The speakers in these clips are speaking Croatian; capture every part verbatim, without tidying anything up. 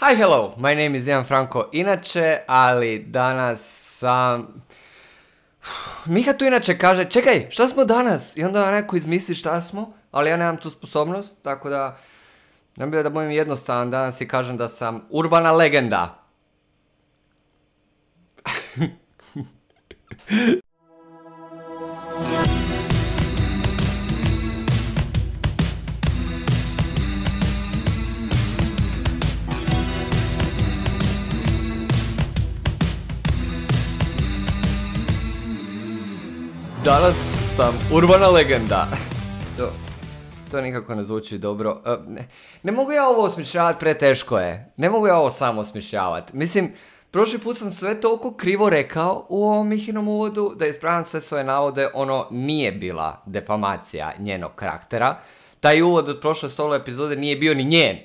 Hi, hello, my name is Ian Franko inače, ali danas sam... Miha tu inače kaže, čekaj, šta smo danas? I onda neko izmisli šta smo, ali ja nemam tu sposobnost, tako da... Ne bi da budem jednostavan danas i kažem da sam urbana legenda. Danas sam urbana legenda. To, to nikako ne zvuči dobro. Uh, ne, ne mogu ja ovo osmišljavati, preteško je. Ne mogu ja ovo samo osmišljavati. Mislim, prošli put sam sve toliko krivo rekao u ovom Mihinom uvodu da ispravljam sve svoje navode. Ono nije bila defamacija njenog karaktera. Taj uvod od prošle solo epizode nije bio ni njen.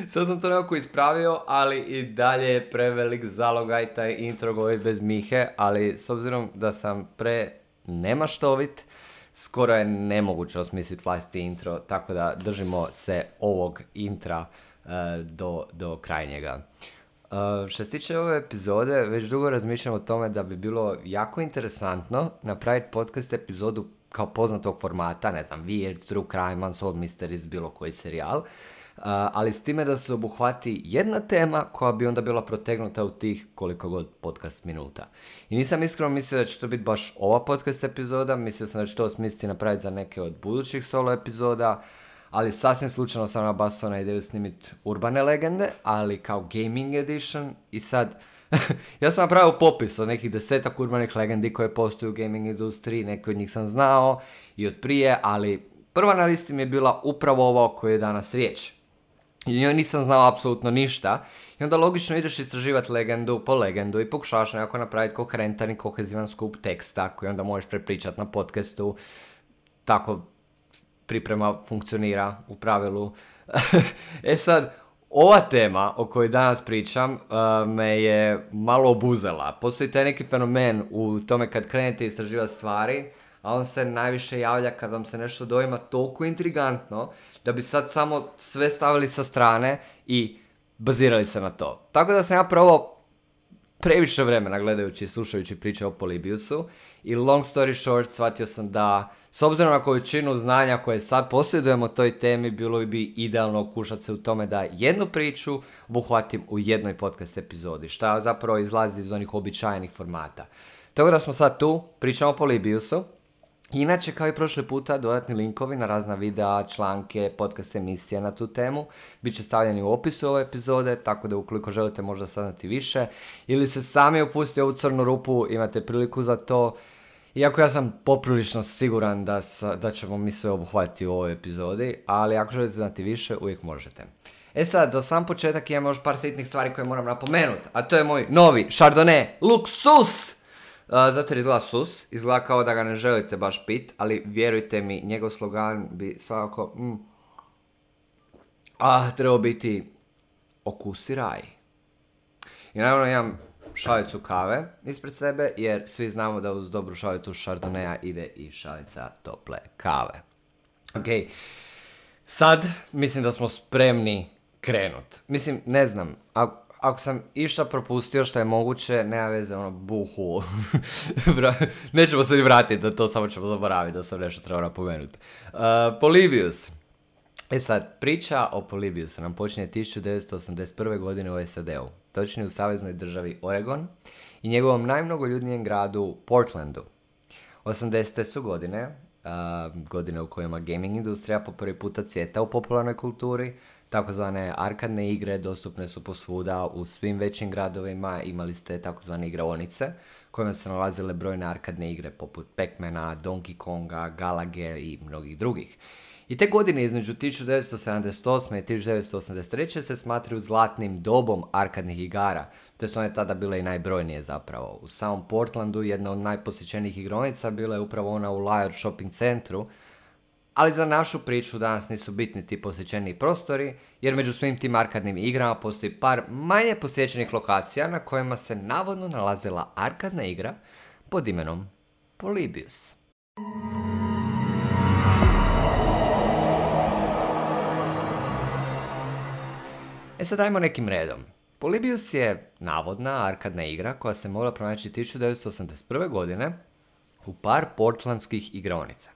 Sad sam to nekako ispravio, ali i dalje je prevelik zalogaj taj intro govorit bez Mihe, ali s obzirom da sam pre nemaštovit, skoro je nemoguće osmisliti vlastiti intro, tako da držimo se ovog intra uh, do, do krajnjega. Uh, što se tiče ove epizode, već dugo razmišljam o tome da bi bilo jako interesantno napraviti podcast epizodu kao poznatog formata, ne znam, Weird, True Crime, Unsolved Mysteries, bilo koji serijal, uh, ali s time da se obuhvati jedna tema koja bi onda bila protegnuta u tih koliko god podcast minuta. I nisam iskreno mislio da će to biti baš ova podcast epizoda, mislio sam da će to smisliti napraviti za neke od budućih solo epizoda, ali sasvim slučajno sam nabasao na ideju snimiti urbane legende, ali kao gaming edition. I sad, ja sam napravio popis od nekih desetak urbanih legendi koje postoje u gaming industriji, neke od njih sam znao i od prije, ali prva na listi mi je bila upravo ova o kojoj je danas riječ. I njoj nisam znao apsolutno ništa. I onda logično ideš istraživati legendu po legendu i pokušavaš nekako napraviti koherentan i kohezivan skup teksta koji onda možeš prepričati na podcastu. Tako priprema funkcionira u pravilu. E sad, ova tema o kojoj danas pričam uh, me je malo obuzela. Postoji taj neki fenomen u tome kad krenete istraživati stvari, a on se najviše javlja kad vam se nešto dojma toliko intrigantno da bi sad samo sve stavili sa strane i bazirali se na to. Tako da sam ja prvo previše vremena gledajući i slušajući priče o Polybiusu i long story short shvatio sam da s obzirom na količinu znanja koje sad posjedujemo o toj temi, bilo bi idealno okušati se u tome da jednu priču obuhvatim u jednoj podcast epizodi, šta zapravo izlazi iz onih običajnih formata. Tako da smo sad tu, pričamo o Polybiusu. Inače, kao i prošle puta, dodatni linkovi na razna videa, članke, podcast emisije na tu temu bit će stavljeni u opisu ove epizode, tako da ukoliko želite možda saznati više ili se sami upustiti u ovu crnu rupu, imate priliku za to. Iako ja sam poprilično siguran da, sa, da ćemo mi sve obuhvatiti u ovoj epizodi, ali ako želite znati više, uvijek možete. E sad, za sam početak imam još par sitnih stvari koje moram napomenuti, a to je moj novi Chardonnay Luxus! Uh, zato jer izgleda sus, izgleda kao da ga ne želite baš pit, ali vjerujte mi, njegov slogan bi svakako mm, ah, trebao biti okusi raj. I naravno imam šalicu kave ispred sebe, jer svi znamo da uz dobru šalicu Chardonnaya ide i šalica tople kave. Ok, sad mislim da smo spremni krenut. Mislim, ne znam, ako, ako sam išta propustio što je moguće, nema veze, ono, buhu. Nećemo se ni vratiti da to, samo ćemo zaboraviti da sam nešto trebao napomenuti. Uh, Polybius. E sad, priča o Polybiusu nam počinje tisuću devetsto osamdeset prve. godine u S A D-u, točnije u saveznoj državi Oregon i njegovom najmnogoljudnijem gradu Portlandu. osamdesete su godine, uh, godine u kojima gaming industrija po prvi puta cvjeta u popularnoj kulturi, takozvane arkadne igre dostupne su posvuda u svim većim gradovima, imali ste takozvane igraonice kojima su nalazile brojne arkadne igre poput Pac-Mana, Donkey Konga, Galage i mnogih drugih. I te godine između tisuću devetsto sedamdeset osme. i tisuću devetsto osamdeset treće. se smatraju zlatnim dobom arkadnih igara, te su one tada bile i najbrojnije zapravo. U samom Portlandu jedna od najposjećenijih igraonica bila je upravo ona u Lyre shopping centru, ali za našu priču danas nisu bitni ti posjećeni prostori, jer među svim tim arkadnim igrama postoji par manje posjećenih lokacija na kojima se navodno nalazila arkadna igra pod imenom Polybius. E sad ajmo nekim redom. Polybius je navodna arkadna igra koja se mogla pronaći tisuću devetsto osamdeset prve. godine u par portlandskih igraonica.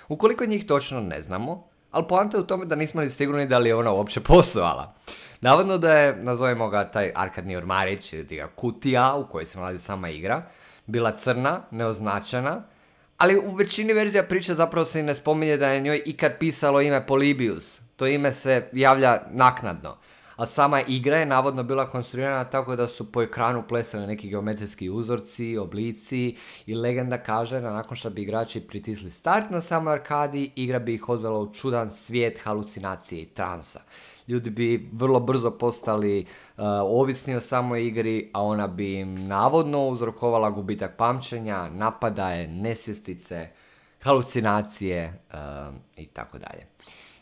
Ukoliko njih točno ne znamo, ali poanta je u tome da nismo ni sigurni da li je ona uopće postojala. Navodno da je, nazovimo ga taj arkadni ormarić ili ga kutija u kojoj se nalazi sama igra, bila crna, neoznačena, ali u većini verzija priče zapravo se i ne spominje da je njoj ikad pisalo ime Polybius. To ime se javlja naknadno. A sama igra je navodno bila konstruirana tako da su po ekranu plesali neki geometrijski uzorci, oblici i legenda kaže da nakon što bi igrači pritisli start na samoj arkadi, igra bi ih odvela u čudan svijet halucinacije i transa. Ljudi bi vrlo brzo postali uh, ovisni o samoj igri, a ona bi im navodno uzrokovala gubitak pamćenja, napadaje, nesvjestice, halucinacije uh, i tako dalje.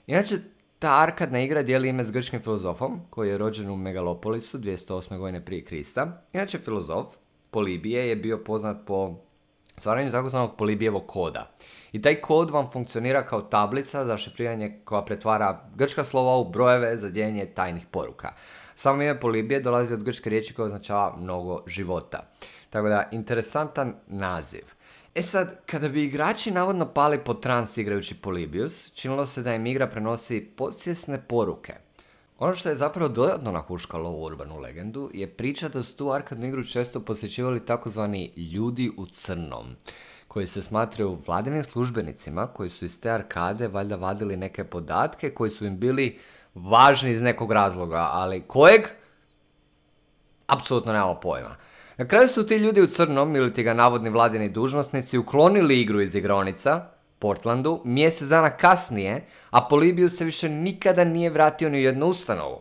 Inače, ta arkadna igra dijeli ime s grčkim filozofom koji je rođen u Megalopolisu dvjesto osme. godine prije Krista. Inače, filozof Polibije je bio poznat po stvaranju takozvanog Polibijevog koda. I taj kod vam funkcionira kao tablica za šifriranje koja pretvara grčka slova u brojeve za dijeljenje tajnih poruka. Samo ime Polibije dolazi od grčke riječi koja označava mnogo života. Tako da, interesantan naziv. E sad, kada bi igrači navodno pali pod trans igrajući Polybius, činilo se da im igra prenosi podsvjesne poruke. Ono što je zapravo dodatno nahuškalo u urbanu legendu je priča da su tu arkadnu igru često posjećivali takozvani ljudi u crnom, koji se smatraju vladinim službenicima koji su iz te arkade valjda vadili neke podatke koji su im bili važni iz nekog razloga, ali kojeg? Apsolutno nemamo pojma. Na kraju su ti ljudi u crnom, ili ti ga navodni vladini dužnosnici, uklonili igru iz igraonica, Portlandu, mjesec dana kasnije, a Polybius se više nikada nije vratio ni u jednu ustanovu.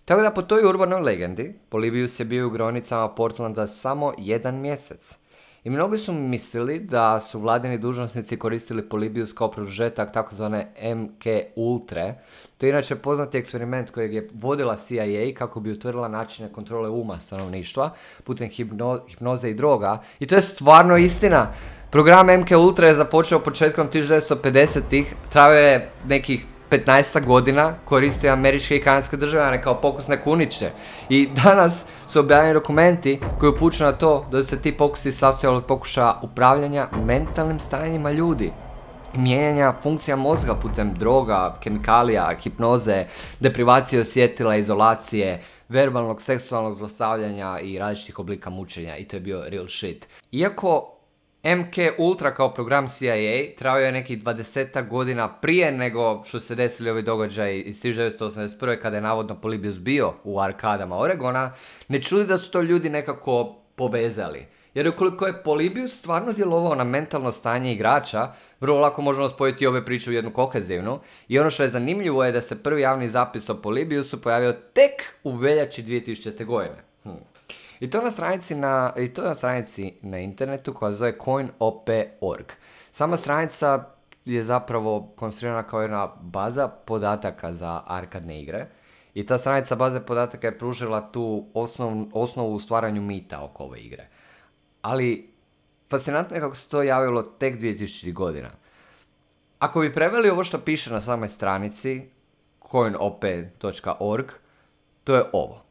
Tako da po toj urbanoj legendi, Polybius je bio u igraonicama Portlanda samo jedan mjesec. I mnogi su mislili da su vladini dužnosnici koristili Polybius kao produžetak takozvane M K Ultre. To je inače poznati eksperiment kojeg je vodila C I A kako bi utvrdila načine kontrole uma stanovništva putem hipno, hipnoze i droga. I to je stvarno istina. Program M K Ultra je započeo početkom tisuću devetsto pedesetih, trajao je nekih petnaest godina, koristio američke i kanadske državljane kao pokusne kuniće. I danas su objavljeni dokumenti koji upućuju na to da su se ti pokusi sastojali od pokušaja upravljanja mentalnim stanjima ljudi. Mijenjanja funkcija mozga putem droga, kemikalija, hipnoze, deprivacije osjetila, izolacije, verbalnog, seksualnog zlostavljanja i različitih oblika mučenja. I to je bio real shit. Iako M K Ultra kao program C I A trajao je nekih dvadesetak godina prije nego što se desili ovi događaji iz tisuću devetsto osamdeset prve. kada je navodno Polybius bio u arkadama Oregona, ne čudi da su to ljudi nekako povezali. Jer ukoliko je Polybius stvarno djelovao na mentalno stanje igrača, vrlo lako možemo spojiti ove priče u jednu kohezivnu. I ono što je zanimljivo je da se prvi javni zapis o Polybiusu pojavio tek u veljači dvije tisućite. godine. Hm. I to na stranici na, i to na stranici na internetu koja se zove coin o p dot org. Sama stranica je zapravo konstruirana kao jedna baza podataka za arkadne igre. I ta stranica baze podataka je pružila tu osnov, osnovu u stvaranju mita oko ove igre. Ali fascinantno je kako se to javilo tek dvije tisućitih. godina. Ako bi preveli ovo što piše na samoj stranici coin o p dot org, to je ovo.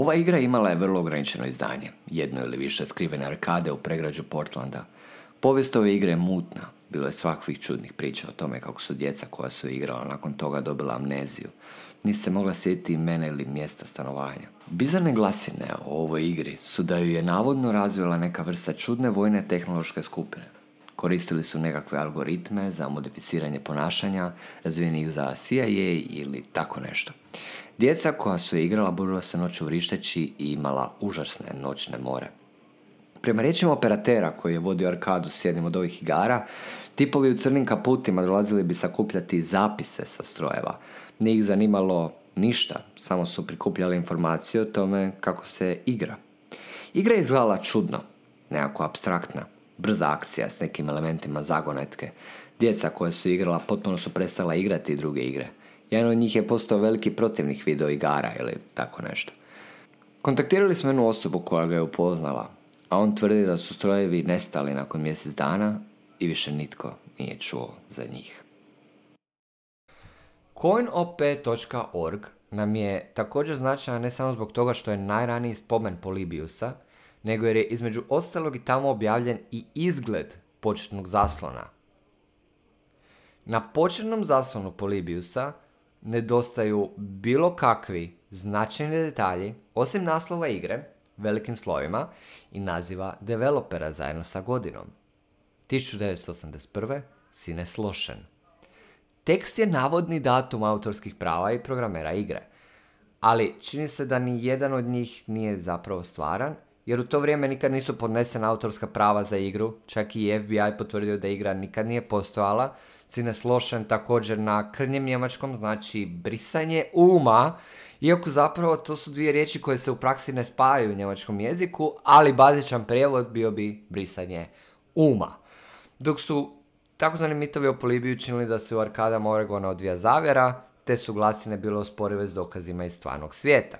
Ova igra imala je vrlo ograničeno izdanje, jedno ili više skrivene arkade u pregrađu Portlanda. Povijest ove igre je mutna, bilo je svakvih čudnih priča o tome kako su djeca koja su igrala nakon toga dobila amneziju. Nisu se mogla sjetiti imena ili mjesta stanovanja. Bizarne glasine o ovoj igri su da ju je navodno razvila neka vrsta čudne vojne tehnološke skupine. Koristili su nekakve algoritme za modificiranje ponašanja, razvijenih za C I A ili tako nešto. Djeca koja su je igrala budila se noću vrišteći i imala užasne noćne more. Prema riječima operatera koji je vodio arkadu s jednim od ovih igara, tipovi u crnim kaputima dolazili bi sakupljati zapise sa strojeva. Nije ih zanimalo ništa, samo su prikupljali informacije o tome kako se igra. Igra je izgledala čudno, nekako apstraktna, brza akcija s nekim elementima zagonetke. Djeca koja su igrala potpuno su prestala igrati druge igre. Jedan od njih je postao veliki protivnik video igara ili tako nešto. Kontaktirali smo jednu osobu koja ga je upoznala, a on tvrdi da su strojevi nestali nakon mjesec dana i više nitko nije čuo za njih. coin o p dot org nam je također značajna ne samo zbog toga što je najraniji spomen Polybiusa, nego jer je između ostalog i tamo objavljen i izgled početnog zaslona. Na početnom zaslonu Polybiusa nedostaju bilo kakvi značajni detalji, osim naslova igre, velikim slovima, i naziva developera zajedno sa godinom. tisuću devetsto osamdeset prve. Sines Lošen. Tekst je navodni datum autorskih prava i programera igre, ali čini se da ni jedan od njih nije zapravo stvaran, jer u to vrijeme nikad nisu podnesena autorska prava za igru, čak i F B I potvrdio da igra nikad nije postojala. Sines Lošen također na krnjem njemačkom znači brisanje uma, iako zapravo to su dvije riječi koje se u praksi ne spajaju u njemačkom jeziku, ali bazičan prijevod bio bi brisanje uma. Dok su takozvani mitovi o Polibiju činili da se u arkadama Oregona odvija zavjera, te su glasine bile usporive s dokazima iz stvarnog svijeta.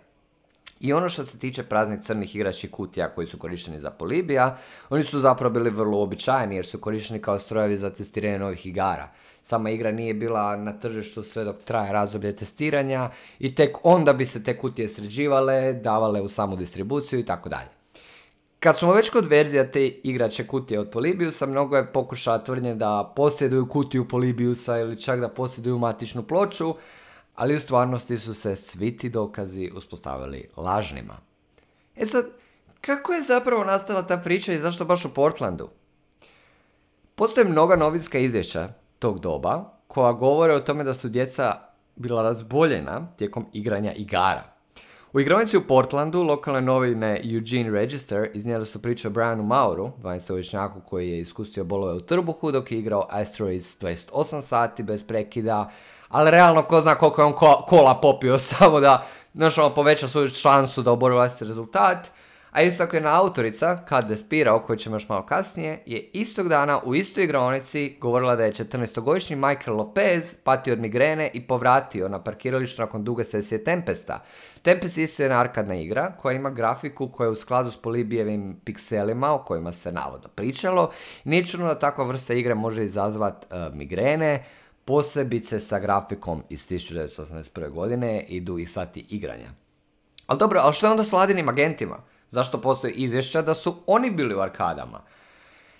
I ono što se tiče praznih crnih igračkih kutija koji su korišteni za Polibija, oni su zapravo bili vrlo uobičajeni jer su korišteni kao strojevi za testiranje novih igara. Sama igra nije bila na tržištu sve dok traje razdoblje testiranja i tek onda bi se te kutije sređivale, davale u samu distribuciju i tako dalje. Kad smo već kod verzija te igrače kutije od Polybiusa, mnogo je pokušaja tvrdnje da posjeduju kutiju Polybiusa ili čak da posjeduju matičnu ploču, ali u stvarnosti su se svi ti dokazi uspostavili lažnima. E sad, kako je zapravo nastala ta priča i zašto baš u Portlandu? Postoje mnoga novinska izvješća tog doba koja govore o tome da su djeca bila razboljena tijekom igranja igara. U igronici u Portlandu lokalne novine Eugene Register iznijeli su priču o Brianu Mauru, dvanaestogodišnjaku koji je iskusio bolove u trbuhu dok je igrao Asteroids dvadeset osam sati bez prekida, ali realno ko zna koliko je on ko- kola popio samo da našao poveća svoju šansu da obori vlastiti rezultat. A isto tako je na autorica, Kat Despira, o kojoj ćemo još malo kasnije, je istog dana u istoj igraonici govorila da je četrnaestogodišnji Michael Lopez patio od migrene i povratio na parkiralištu nakon duge sesije Tempesta. Tempest isto je jedna arkadna igra koja ima grafiku koja je u skladu s Polybijevim pikselima o kojima se navodno pričalo. Nije čudno da takva vrsta igre može izazvati uh, migrene, posebice sa grafikom iz tisuću devetsto osamdeset prve. godine i dugih sati igranja. Ali dobro, ali što je onda s vladinim agentima? Zašto postoji izvješća da su oni bili u arkadama?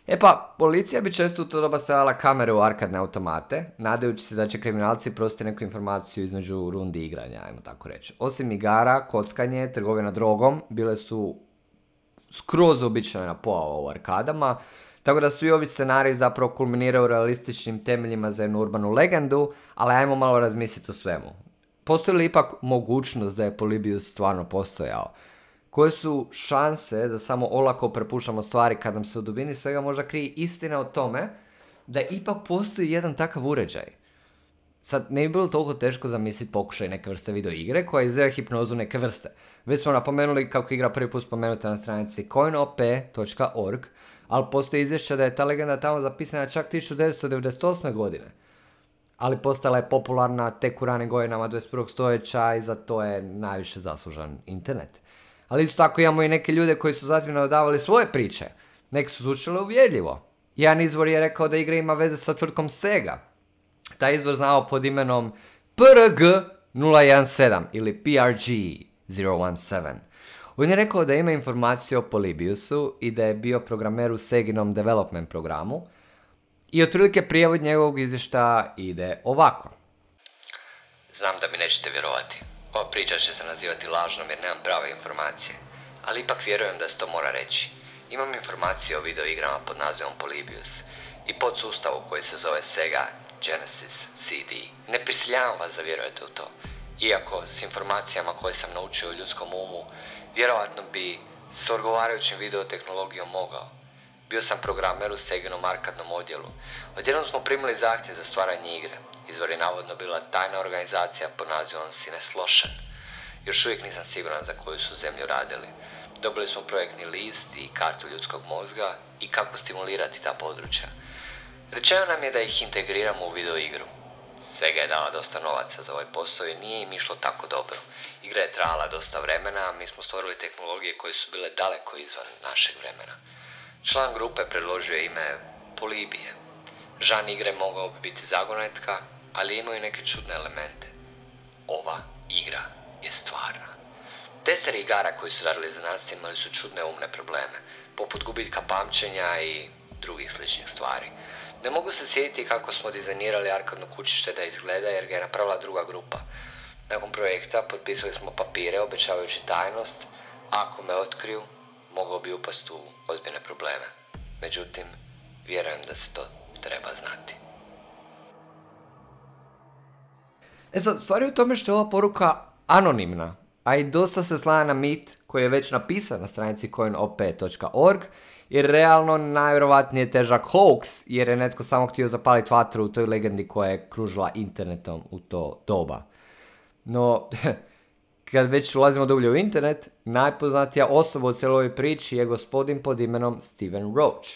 E pa, policija bi često u to doba stavila kamere u arkadne automate, nadajući se da će kriminalci prostiti neku informaciju između rundi igranja, ajmo tako reći. Osim igara, kockanje, trgovina drogom, bile su skroz uobičajena pojava u arkadama, tako da svi ovi scenariji zapravo kulminiraju realističnim temeljima za jednu urbanu legendu, ali ajmo malo razmisliti o svemu. Postoji li ipak mogućnost da je Polybius stvarno postojao? Koje su šanse da samo olako prepuštamo stvari kad nam se u dubini svega možda krije istina o tome da ipak postoji jedan takav uređaj? Sad, ne bi bilo toliko teško zamisliti pokušaj neke vrste video igre koja izdaje hipnozu neke vrste. Već smo napomenuli kako igra prvi put spomenuta na stranici coin o p dot org, ali postoji izvješća da je ta legenda tamo zapisana čak tisuću devetsto devedeset osme. godine. Ali postala je popularna tek u ranim godinama dvadeset prvog. stoljeća i za to je najviše zaslužan internet. Ali isto tako imamo i neke ljude koji su zatim dodavali svoje priče. Neki su zvučale uvjerljivo. Jedan izvor je rekao da igra ima veze sa tvrtkom Sega. Taj izvor znao pod imenom P R G nula jedan sedam ili P R G nula jedan sedam. On je rekao da ima informaciju o Polybiusu i da je bio programer u Seginom development programu. I otprilike prijevod njegovog izvještaja ide ovako. Znam da mi nećete vjerovati. Ova priča će se nazivati lažnom jer nemam prave informacije, ali ipak vjerujem da se to mora reći. Imam informacije o videoigrama pod nazivom Polybius i podsustavu koji se zove Sega Genesis C D. Ne prisiljavam vas da vjerujete u to, iako s informacijama koje sam naučio o ljudskom umu, vjerovatno bi s odgovarajućim videotehnologijom mogao. Bio sam programer u Seginom arkadnom odjelu. Odjednom smo primili zahtjev za stvaranje igre. Izvor je navodno bila tajna organizacija pod nazivom Sines Lošen. Još uvijek nisam siguran za koju su zemlju radili. Dobili smo projektni list i kartu ljudskog mozga i kako stimulirati ta područja. Rečeno nam je da ih integriramo u videoigru. Sega je dala dosta novaca za ovaj posao i nije im išlo tako dobro. Igra je trajala dosta vremena, a mi smo stvorili tehnologije koje su bile daleko izvan našeg vremena. Član grupe predložio je ime Polybije. Žan igre mogao bi biti zagonetka, ali imaju neke čudne elemente. Ova igra je stvarna. Testeri igara koji su radili za nas imali su čudne umne probleme, poput gubitka pamćenja i drugih sličnih stvari. Ne mogu se sjetiti kako smo dizajnirali arkadno kućište da izgleda jer ga je napravila druga grupa. Nakon projekta potpisali smo papire obećavajući tajnost, ako me otkriju, mogao bi upast u ozbiljne probleme. Međutim, vjerujem da se to treba znati. E sad, stvar je u tome što je ova poruka anonimna, a i dosta se oslanja na mit koji je već napisan na stranici coin o p dot org, jer realno najvjerovatnije težak hoax, jer je netko samo htio zapaliti vatru u toj legendi koja je kružila internetom u to doba. No, kad već ulazimo dublje u internet, najpoznatija osoba u cijeloj priči je gospodin pod imenom Steven Roach,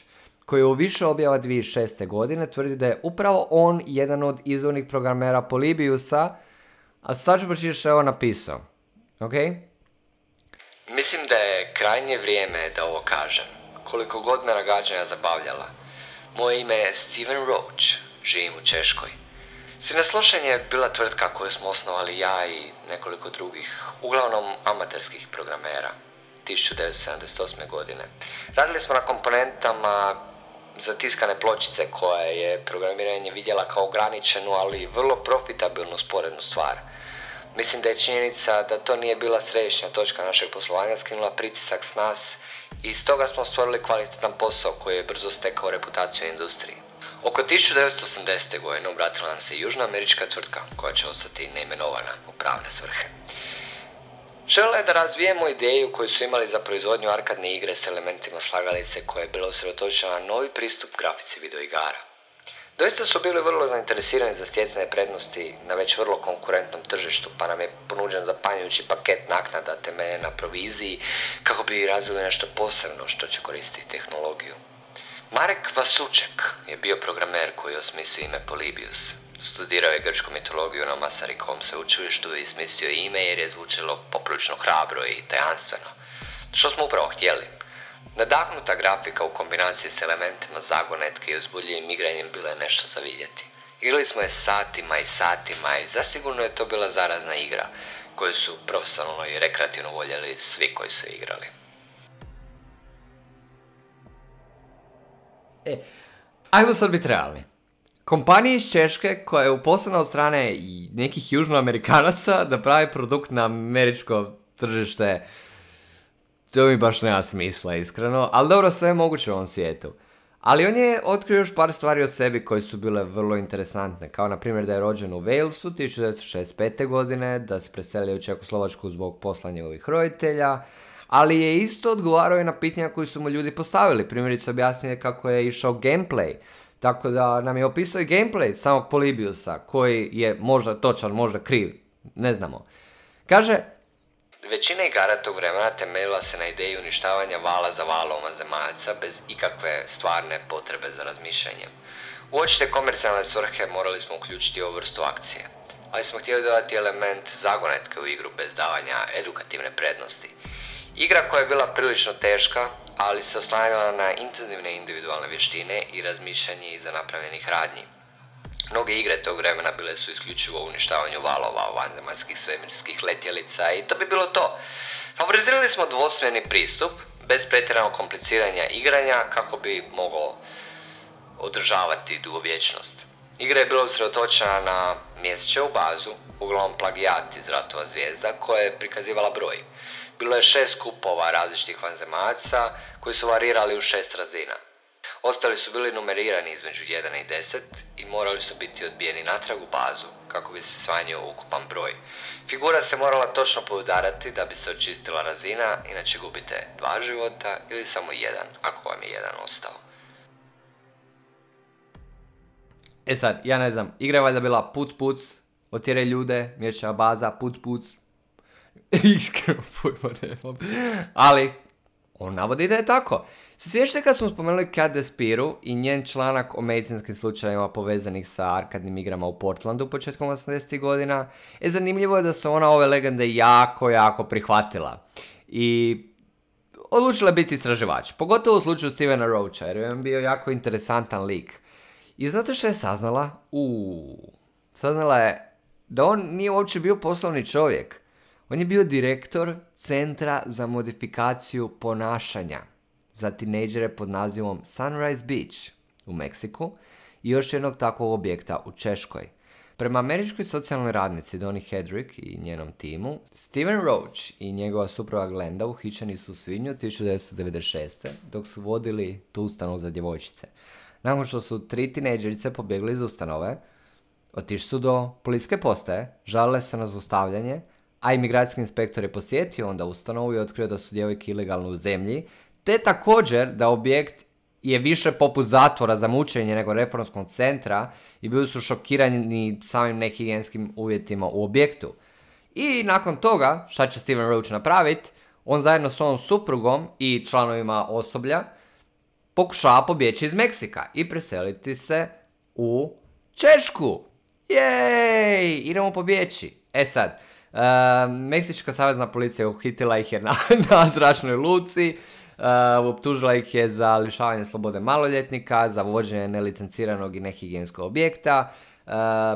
koji u više objava dvije tisuće šeste. godine tvrdi da je upravo on jedan od izvornih programera Polybiusa, a sad ću pročitati što je on napisao. Ok? Mislim da je krajnje vrijeme da ovo kažem. Koliko god me nagađanja zabavljala. Moje ime je Steven Roach, živim u Češkoj. Sineslošen je bila tvrtka koju smo osnovali ja i nekoliko drugih, uglavnom amaterskih programera, tisuću devetsto sedamdeset osme. godine. Radili smo na komponentama za tiskane pločice koja je programiranje vidjela kao ograničenu, ali vrlo profitabilnu sporednu stvar. Mislim da je činjenica da to nije bila središnja točka našeg poslovanja skinula pritisak s nas i stoga smo stvorili kvalitetan posao koji je brzo stekao reputaciju u industriji. Oko tisuću devetsto osamdesete. godine obratila nam se južnoamerička tvrtka koja će ostati neimenovana u pravne svrhe. Žele je da razvijemo ideju koju su imali za proizvodnju arkadne igre s elementima slagalice koja je bila usredotočena na novi pristup grafici videoigara. Doista su bili vrlo zainteresirani za stjecanje prednosti na već vrlo konkurentnom tržištu, pa nam je ponuđen zapanjujući paket naknada temeljen na proviziji kako bi razvili nešto posebno što će koristiti tehnologiju. Marek Vasuček je bio programer koji je osmislio ime Polybius. Studirao je grčku mitologiju na Masarikovom sveučilištu i smislio ime jer je zvučalo poprilično hrabro i tajanstveno. Što smo upravo htjeli. Nadahnuta grafika u kombinaciji s elementima zagonetke i uzbudljivim igranjem bila je nešto za vidjeti. Igrali smo je satima i satima i zasigurno je to bila zarazna igra koju su profesionalno i rekreativno voljeli svi koji su igrali. E, ajmo sad biti realni. Kompanija iz Češke koja je uposlena od strane i nekih južnoamerikanaca da pravi produkt na američko tržište, to mi baš nema smisla, iskreno, ali dobro, sve je moguće u ovom svijetu. Ali on je otkrio još par stvari o sebi koje su bile vrlo interesantne, kao na primjer da je rođen u Walesu tisuću devetsto šezdeset pete. godine, da se preselio u Čekoslovačku zbog posla njegovih roditelja, ali je isto odgovarao i na pitanja koji su mu ljudi postavili. Primjerice objasnio je kako je išao gameplay, tako da nam je opisao i gameplay samog Polybiusa, koji je možda točan, možda kriv, ne znamo. Kaže: većina igara tog vremena temeljila se na ideji uništavanja vala za valom zemaljca bez ikakve stvarne potrebe za razmišljanjem. U očite komercijalne svrhe morali smo uključiti ovu vrstu akcije, ali smo htjeli dodati element zagonetke u igru bez davanja edukativne prednosti. Igra koja je bila prilično teška, ali se oslanjala na intenzivne individualne vještine i razmišljanje iza napravljenih radnji. Mnoge igre tog vremena bile su isključivo u uništavanju valova, vanzemaljskih svemirskih letjelica i to bi bilo to. Favorizirali smo dvosmjerni pristup, bez pretjeranog kompliciranja igranja kako bi moglo održavati dugovječnost. Igra je bila usredotočena na mjesečevu bazu, uglavnom plagijat iz Ratova zvijezda, koja je prikazivala broj. Bilo je šest skupova različitih vanzemaljaca koji su varirali u šest razina. Ostali su bili numerirani između jedan i deset i morali su biti odbijeni natrag u bazu kako bi se smanjio ukupan broj. Figura se morala točno poudarati da bi se očistila razina, inače gubite dva života ili samo jedan ako vam je jedan ostao. E sad, ja ne znam, igra je valjda bila puc puc, otjeraj ljude, mječa baza, puc puc. Iskreno pojma nemam. Ali, on navodi da je tako. Se sjećate kad smo spomenuli Kat Despiru i njen članak o medicinskim slučajevima povezanih sa arkadnim igrama u Portlandu početkom osamdesetih godina? E, zanimljivo je da se ona ove legende jako, jako prihvatila. I odlučila biti istraživač. Pogotovo u slučaju Stevena Roacha, jer je on bio jako interesantan lik. I znate što je saznala? Uuu, saznala je da on nije uopće bio poslovni čovjek. On je bio direktor Centra za modifikaciju ponašanja za tinejdžere pod nazivom Sunrise Beach u Meksiku i još jednog takvog objekta u Češkoj. Prema američkoj socijalnoj radnici Doni Hedrick i njenom timu, Steven Roach i njegova supruga Glenda uhićeni su u svibnju tisuću devetsto devedeset šeste. dok su vodili tu ustanovu za djevojčice. Nakon što su tri tinejdžerice pobjegli iz ustanove, otišli su do policijske postaje, žalile se na zlostavljanje, a imigracijski inspektor je posjetio onda ustanovu i otkrio da su djevojke ilegalno u zemlji, te također da objekt je više poput zatvora za mučenje nego reformskog centra i bili su šokirani samim nehigijenskim uvjetima u objektu. I nakon toga, šta će Steven Roach napraviti, on zajedno s ovom suprugom i članovima osoblja pokušava pobjeći iz Meksika i preseliti se u Češku. Jej! Idemo pobjeći. E sad, uh, Meksička savezna policija uhitila ih je na, na zračnoj luci, uh, optužila ih je za lišavanje slobode maloljetnika, za vođenje nelicenciranog i nehigijenskog objekta. Uh,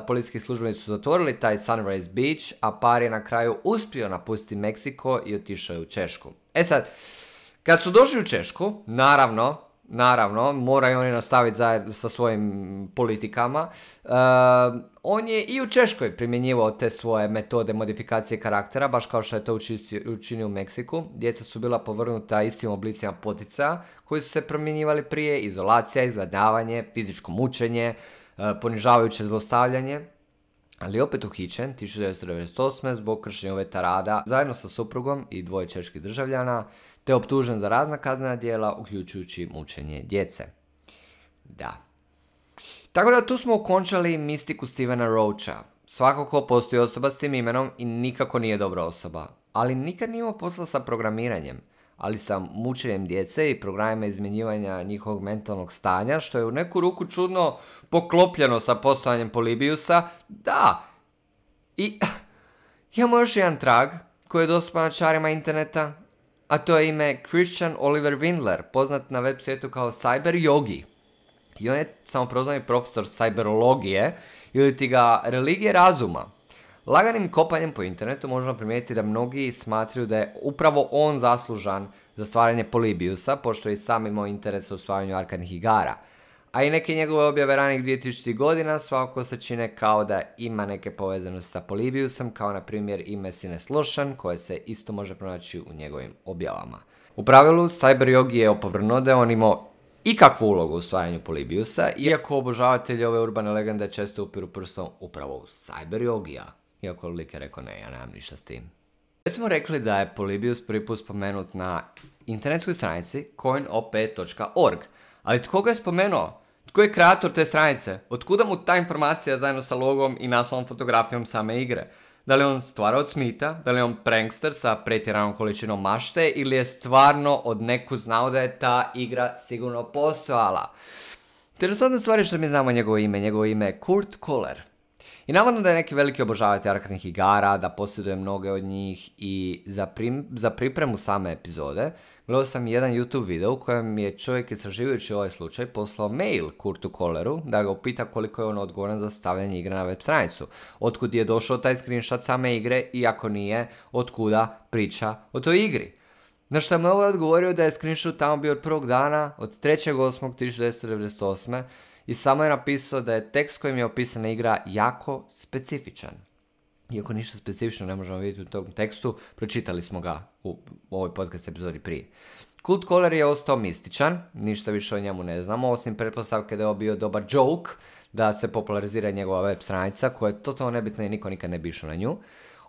policijski službenici su zatvorili taj Sunrise Beach, a par je na kraju uspio napustiti Meksiko i otišao je u Češku. E sad, kad su došli u Češku, naravno, naravno, moraju oni nastaviti zajedno sa svojim politikama. Uh, on je i u Češkoj primjenjivao te svoje metode modifikacije karaktera, baš kao što je to učistio, učinio u Meksiku. Djeca su bila povrnuta istim oblicima poticaja koji su se primjenjivali prije: izolacija, izgladnjavanje, fizičko mučenje, uh, ponižavajuće zlostavljanje. Ali opet uhićen tisuću devetsto devedeset osme. zbog kršenja uvjeta rada zajedno sa suprugom i dvoje čeških državljana, te optužen za razna kaznena djela, uključujući mučenje djece. Da. Tako da tu smo okončali mistiku Stevena Roacha. Svakako postoji osoba s tim imenom i nikako nije dobra osoba. Ali nikad nije imao posla sa programiranjem, ali sa mučenjem djece i programima izmjenjivanja njihovog mentalnog stanja, što je u neku ruku čudno poklopljeno sa postojanjem Polybiusa. Da! I imamo još jedan trag koji je dostupan čarima interneta, a to je ime Christian Oliver Windler, poznat na web svijetu kao Cyber Yogi. I on je samoprozvani profesor cyberologije ili ti ga religije razuma. Laganim kopanjem po internetu možemo primijetiti da mnogi smatraju da je upravo on zaslužan za stvaranje Polybiusa, pošto je i sam imao interes u stvaranju arkadnih igara. A i neke njegove objave ranih dvije tisućitih godina svakako se čine kao da ima neke povezanosti sa Polybiusom, kao na primjer ime Sines Lošan, koje se isto može pronaći u njegovim objavama. U pravilu, Cyber Yogi je opovrnuo da je on imao ikakvu ulogu u stvaranju Polybiusa, iako obožavatelji ove urbane legende često upiru prstom upravo u Cyber Yogija. Iako lik je rekao ne, ja nemam ništa s tim. Već smo rekli da je Polybius prvi put spomenut na internetskoj stranici coin o p dot org, ali tko ga je spomenuo? Tko je kreator te stranice? Otkuda mu ta informacija zajedno sa logom i naslovom fotografijom same igre? Da li on stvara od smita? Da li je on prankster sa pretjeranom količinom mašte? Ili je stvarno od nekud znao da je ta igra sigurno postojala? Interesantna stvar je što mi znamo njegovo ime. Njegovo ime je Kurt Kohler. I navodno da je neki veliki obožavatelj arkadnih igara, da posjeduje mnoge od njih i za, prim, za pripremu same epizode gledao sam jedan YouTube video u kojem je čovjek istraživajući ovaj slučaj poslao mail Kurtu Kohleru da ga upita koliko je on odgovoran za stavljanje igre na web stranicu. Otkud je došao taj screenshot same igre i ako nije, otkuda priča o toj igri. Na što mu je ovaj odgovorio da je screenshot tamo bio od prvog dana, od trećeg osmog tisuću devetsto devedeset osme. I samo je napisao da je tekst kojim je opisana igra jako specifičan. Iako ništa specifično ne možemo vidjeti u tom tekstu, pročitali smo ga u ovoj podcast epizodi prije. Kurt Kohler je ostao mističan, ništa više o njemu ne znamo, osim pretpostavke da je ovo bio dobar joke, da se popularizira njegova web stranica, koja je totalno nebitna i niko nikad ne bi išao na nju.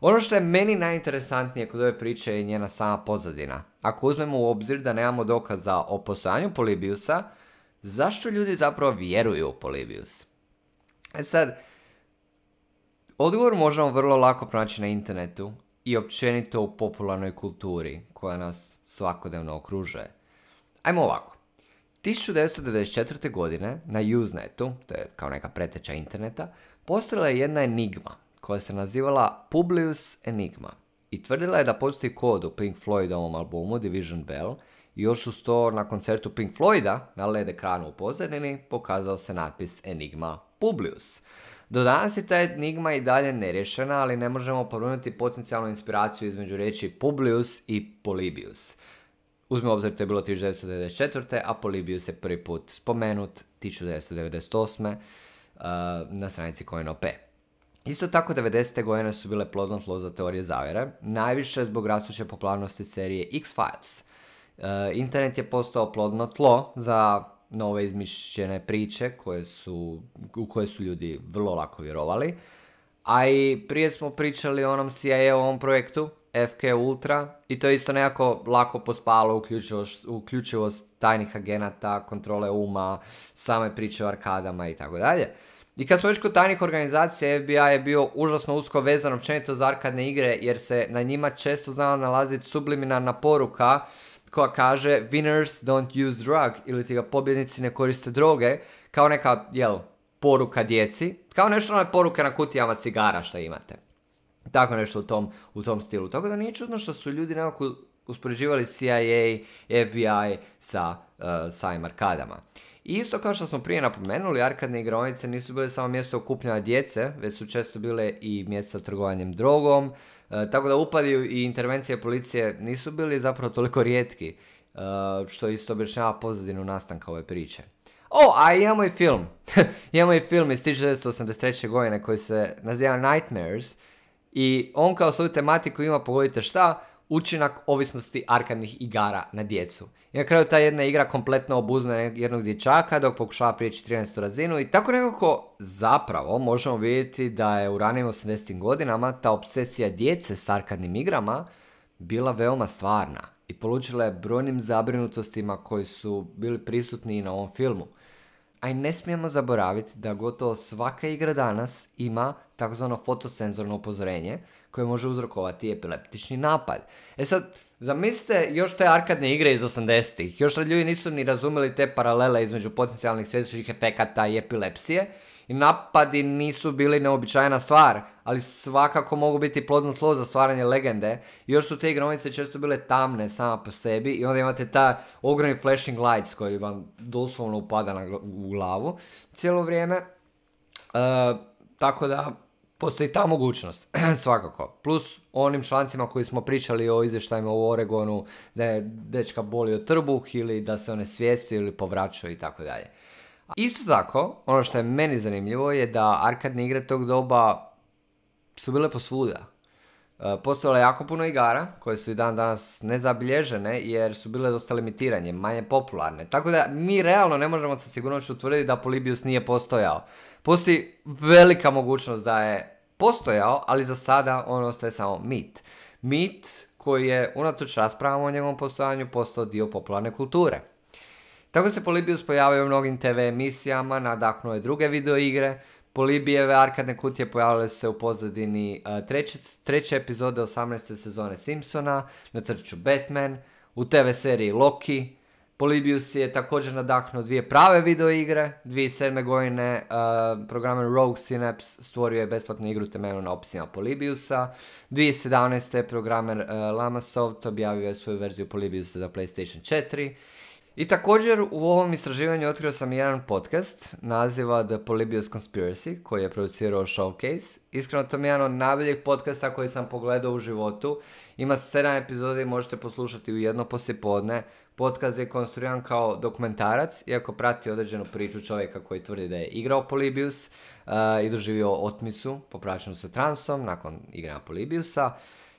Ono što je meni najinteresantnije kod ove priče je njena sama pozadina. Ako uzmemo u obzir da nemamo dokaza o postojanju Polybiusa, zašto ljudi zapravo vjeruju u Polybius? E sad, odgovor možemo vrlo lako pronaći na internetu i općenito u popularnoj kulturi koja nas svakodnevno okružuje. Ajmo ovako. tisuću devetsto devedeset četvrte. godine na Usenetu, to je kao neka preteča interneta, postojala je jedna enigma koja se nazivala Publius Enigma i tvrdila je da postoji kod u Pink Floydovom albumu Division Bell. I još uz to na koncertu Pink Floyda na L E D ekranu u pozadini pokazao se natpis Enigma Publius. Do danas je ta enigma i dalje nerješena, ali ne možemo povrnuti potencijalnu inspiraciju između riječi Publius i Polybius. Uzmimo obzir, to je bilo tisuću devetsto devedeset četvrte. a Polybius je prvi put spomenut tisuću devetsto devedeset osme. Uh, na stranici Coin.op. Isto tako, devedesete godine su bile plodno tlo za teorije zavjere, najviše zbog rastuće popularnosti serije X-Files. Uh, internet je postao plodno tlo za nove izmišljene priče koje su, u koje su ljudi vrlo lako vjerovali. A i prije smo pričali o onom C I A-ovom projektu F K Ultra i to je isto nekako lako pospalo uključivost, uključivost tajnih agenata, kontrole uma, same priče o arkadama i tako dalje. I kad smo već kod tajnih organizacija, F B I je bio užasno usko vezan općenito za arkadne igre jer se na njima često znala nalaziti subliminarna poruka koja kaže winners don't use drug ili ti ga pobjednici ne koriste droge, kao neka, jel, poruka djeci, kao nešto one poruke na kutijama cigara što imate. Tako nešto u tom, u tom stilu. Tako da nije čudno što su ljudi nekako uspoređivali C I A, F B I sa uh, samim arkadama. I isto kao što smo prije napomenuli, arkadne igraonice nisu bile samo mjesto okupljanja djece, već su često bile i mjesta trgovanjem drogom, uh, tako da upadi i intervencije policije nisu bili zapravo toliko rijetki, uh, što isto objašnjava pozadinu nastanka ove priče. O, a imamo i film. Imamo i film iz tisuću devetsto osamdeset treće. godine koji se naziva Nightmares i on kao svoju tematiku ima, pogodite šta, učinak ovisnosti arkadnih igara na djecu. I na kraju ta jedna igra kompletno obuzme jednog dječaka dok pokušava prijeći trinaestu razinu i tako nekako zapravo možemo vidjeti da je u ranijim osamdesetim godinama ta obsesija djece s arkadnim igrama bila veoma stvarna i polučila je brojnim zabrinutostima koji su bili prisutni i na ovom filmu. A i ne smijemo zaboraviti da gotovo svaka igra danas ima takozvano fotosenzorno upozorenje koje može uzrokovati epileptični napad. E sad, zamislite još te arkadne igre iz osamdesetih. Još ljudi nisu ni razumjeli te paralele između potencijalnih svjetlosnih efekata i epilepsije. I napadi nisu bili neobičajna stvar, ali svakako mogu biti plodno tlo za stvaranje legende. Još su te igraonice često bile tamne sama po sebi i onda imate ta ogromni flashing lights koji vam doslovno upada na gl- u glavu cijelo vrijeme. E, tako da postoji ta mogućnost, svakako. Plus onim člancima koji smo pričali o izvještajima u Oregonu da je dečka bolio trbuh ili da se one svijestio ili povraćao i tako dalje. Isto tako, ono što je meni zanimljivo je da arkadne igre tog doba su bile posvuda. Postojalo je jako puno igara koje su i dan danas nezabilježene jer su bile dosta limitiranje, manje popularne. Tako da mi realno ne možemo sa sigurnošću utvrditi da Polybius nije postojao. Postoji velika mogućnost da je postojao, ali za sada on ostaje samo mit. Mit koji je unatoč raspravama o njegovom postojanju postao dio popularne kulture. Tako se Polybius pojavio u mnogim te ve emisijama, nadahnuo je druge videoigre. Polybijeve arkadne kutije pojavile se u pozadini uh, treće, treće epizode osamnaeste sezone Simpsona, na crtiću Batman, u te ve seriji Loki. Polybius je također nadahnuo dvije prave videoigre. dvije tisuće sedme. godine uh, programer Rogue Synapse stvorio je besplatnu igru temeljenu na opisima Polybiusa. dvije tisuće sedamnaeste. programer uh, Lamasoft objavio je svoju verziju Polybiusa za PlayStation četiri. I također u ovom istraživanju otkrio sam jedan podcast, naziva The Polybius Conspiracy, koji je producirao Showcase. Iskreno, to mi je jedan od najboljih podcasta koji sam pogledao u životu. Ima sedam epizoda i možete poslušati u jedno poslijepodne. Podcast je konstruiran kao dokumentarac, iako prati određenu priču čovjeka koji tvrdi da je igrao Polybius uh, i doživio otmicu popraćenu sa transom nakon igranja Polybiusa.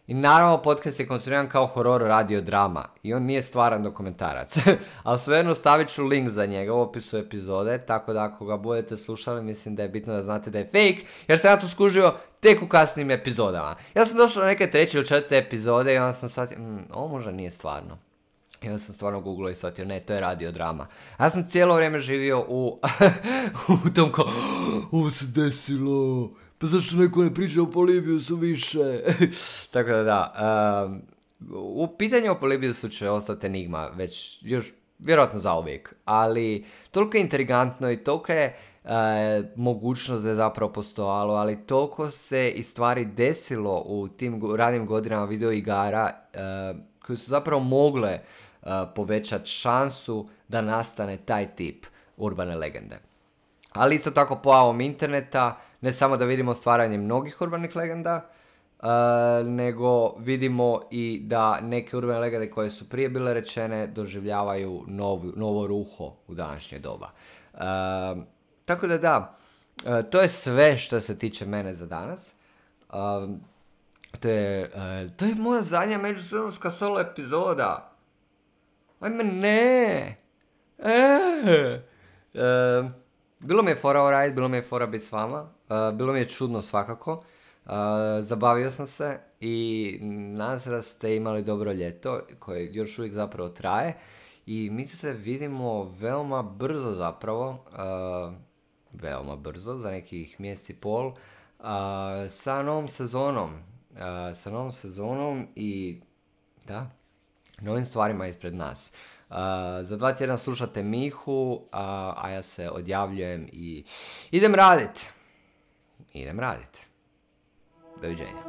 I naravno podcast je konstruiran kao horor radio drama i on nije stvaran dokumentarac. Ali svejedno stavit ću link za njega u opisu epizode, tako da ako ga budete slušali mislim da je bitno da znate da je fake, jer sam ja to skužio tek u kasnim epizodama. Ja sam došao do neke treće ili četvrte epizode i onda sam shvatio, mmm, ovo možda nije stvarno. I onda sam stvarno googlao i shvatio, ne, to je radio drama. Ja sam cijelo vrijeme živio u, u tom kao, ovo se desilo, pa zašto neko ne priča o Polybiusu više? Tako da da, um, u pitanju o Polybiusu će ostati enigma, već još vjerojatno zauvijek, ali toliko je intrigantno i toliko je uh, mogućnost da je zapravo postojalo, ali toliko se i stvari desilo u tim ranim godinama videoigara uh, koje su zapravo mogle uh, povećati šansu da nastane taj tip urbane legende. ali isto tako pojavom interneta, ne samo da vidimo stvaranje mnogih urbanih legenda, uh, nego vidimo i da neke urbane legende koje su prije bile rečene doživljavaju novu, novo ruho u današnje doba. Uh, tako da da, uh, to je sve što se tiče mene za danas. Uh, to, je, uh, to je moja zadnja međusezonska solo epizoda. Ajme ne! E, uh, bilo mi je fora alright, bilo mi je fora biti s vama, uh, bilo mi je čudno svakako, uh, zabavio sam se i nadam se da ste imali dobro ljeto koje još uvijek zapravo traje i mi se vidimo veoma brzo zapravo, uh, veoma brzo, za nekih mjesec i pol, uh, sa novom sezonom, uh, sa novom sezonom i da, novim stvarima ispred nas. Uh, za dva tjedna slušate Mihu, uh, a ja se odjavljujem i idem radit. Idem radit. Doviđenja.